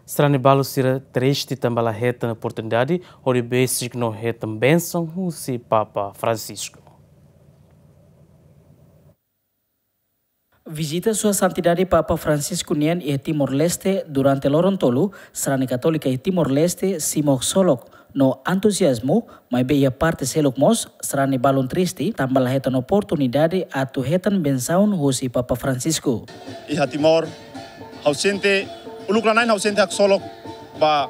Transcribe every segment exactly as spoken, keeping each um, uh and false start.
Sarani balu sira triste tanba la hetan oportunidade hodi besik no hetan bensaun husi Papa Francisco. Vizita Sua Santidade Papa Francisco nian iha Timor-Leste durante loron tolu, sarani katólika iha Timor-Leste simu ksolok no entuziazmu, maibé iha parte seluk mós sarani balun triste tanba la hetan oportunidade atu hetan bensaun husi Papa Francisco. Iha Timor, ha'u sente, uluk la na'in ha'u sente haksolok ba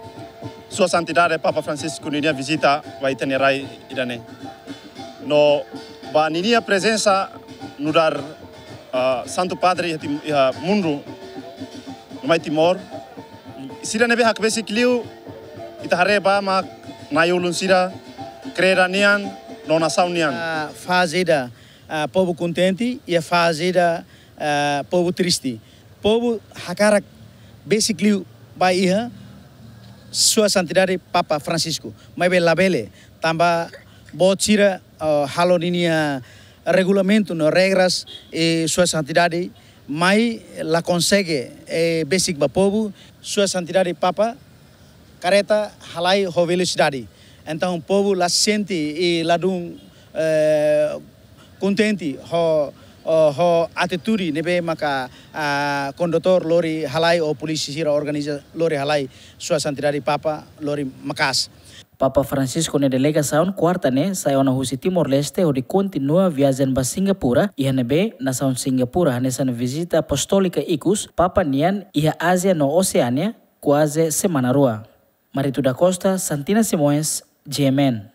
Sua Santidade Papa Francisco ninia vizita ba ita-nia rai ida-ne'e. No ba ninia prezensa nu'udar, ah, Santu Padre iha Tim-, iha mundu, no mai Timor. Sira ne'ebé hakbesik liu, ita haree ba mak na'i-ulun sira, kreda nian, no nasaun nian. Ah, faze ida, ah, povu kontente, iha faze ida, ah, povu triste. Povu hakarak besik liu ba iha Sua Santidade Papa Francisco. Maibé labele, tanba boot sira, ah, halo ninia regulamentu no regras, eh, Sua Santidade mai la konsege, eh, besik ba povu. Sua Santidade Papa kareta halai ho velosidade. Entaun povu la sente i ladún, eh, kontente ho, ho, ho atitude ne'ebé maka, ah, kondutór lori halai ou polísia sira organiza lori halai Sua Santidade Papa lori maka'as. Papa Francisco nia delegasaun kuarta ne'e sai ona husi Timor-Leste hodi kontinua viajen ba Singapura, iha ne'ebé nasaun Singapura hanesan vizita apostólika ikus Papa nian iha Ázia no Oseánia, kuaze semana rua. Marito da Costa, Santina Simões, G M N.